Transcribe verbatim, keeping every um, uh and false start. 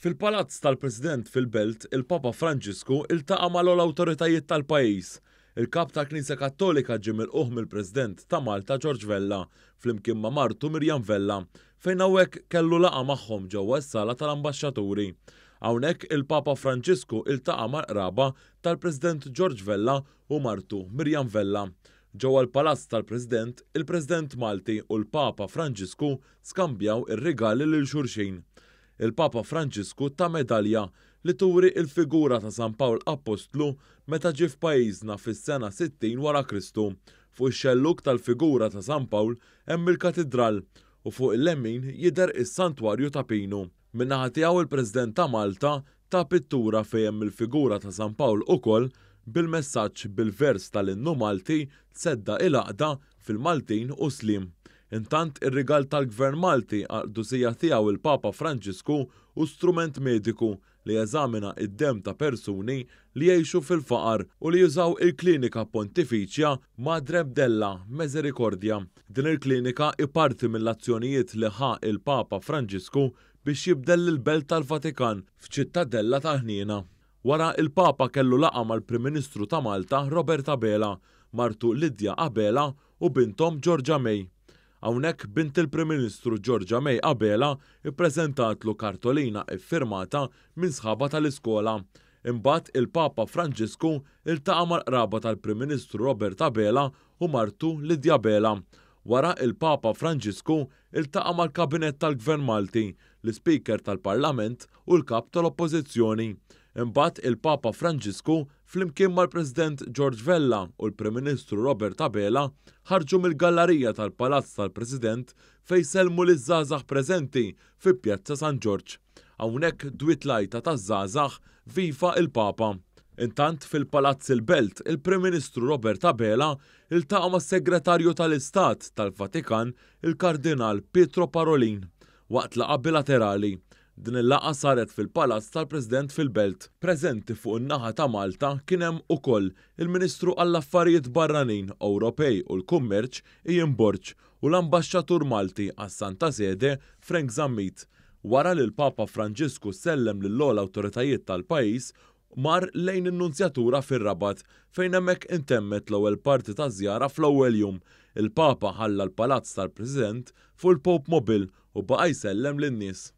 Fil-Palazz tal-President fil-Belt, il-Papa Franġisku iltaqa' mal-ogħla awtoritajiet tal-pajjiż. Il-Kap tal-Knisja Kattolika ġie milqugħ mill-President ta' Malta George Vella flimkien ma' martu Mirjam Vella, fejn hawnhekk kellu laqgħa magħhom ġewwa s-sala tal-ambaxxaturi. Hawnhekk il-Papa Franġisku iltaqa' mal-qraba tal-President George Vella u martu Mirjam Vella. Ġewwa l-Palazz tal-President, il-President Malti u l-Papa Franġisku skambjaw ir-rigali lil xulxin. Il-Papa Franġisku ta medalja li turi il-figura ta' San Pawl Appostlu meta ġie f'pajjiżna fis-sena sittin wara Kristu. Fuq ix-xellug tal-figura ta' San Pawl hemm il-katidral u fuq il-lemin jidher is-Santwarju ta' Pinu. Min-naħa tiegħu, il-President ta' Malta ta pittura fejn hemm il-figura ta' San Pawl ukoll, bil-messaġġ bil-vers tal-innu Malti "Tseddaq il-għaqda fil-Maltin u Sliem". Intant, ir-rigal tal-Gvern Malti għall-qdusija tiegħu il-Papa Franġisku hu strument mediku li jeżamina id-dem ta' persuni li jgħixu fil-faqar u li jużaw il-Klinika Pontifiċja Madre della Misericordia. Din il-klinika hi parti mill-azzjonijiet li ħa il-Papa Franġisku biex jibdel l-Belt tal-Vatikan f'ċittadella tal-ħniena. Wara, il-Papa kellu laqgħa mal-Prim Ministru ta' Malta Robert Abela, martu Lidja Abela u bintom Georgia May. Hawnhekk bint il-Prim Ministru Georgia May Abela ippreżentatlu kartolina iffirmata minn sħaba tal-iskola. Imbagħad il-Papa Franġisku iltaqa' mal-qraba tal-Prim Ministru Robert Abela u martu Lidja Abela. Wara, il-Papa Franġisku iltaqa' mal-Kabinett tal-Gvern Malti, l-Ispeaker tal-Parlament u l-Kap tal-Oppożizzjoni. Imbagħad il-Papa Franġisku flimkien mal-President George Vella u l-Prim Ministru Robert Abela ħarġu mill-gallerija tal-Palazz tal-President fejn sellmu liż-żgħażagħ preżenti fi Pjazza San Ġorġ. Hawnhekk dwiet l-għajta taż-żgħażagħ "Viva il-Papa". Intant, fil-Palazz il-Belt, il-Prim Ministru Robert Abela iltaqa' mas-Segretarju tal-Istat tal-Vatikan, il-Kardinal Pietro Parolin, waqt laqgħa bilaterali. Din il-laqgħa saret fil-Palazz tal-President fil-Belt. Preżenti fuq in-naħa ta' Malta kien hemm ukoll il-Ministru għall-Affarijiet Barranin, Ewropej u l-Kummerċ Ian Borg u l-Ambaxxatur Malti għas-Santa Sede Frank Zammit. Wara li l-Papa Franġisku sellem lill-ogħla awtoritajiet tal-pajjiż, mar lejn in-Nunzjatura fir-Rabat, fejn hemmhekk intemmet l-ewwel parti ta' żjara fl-ewwel jum. Il-Papa ħalla l-Palazz tal-President fuq il-Pope Mobile u baqa' jsellem lin-nies.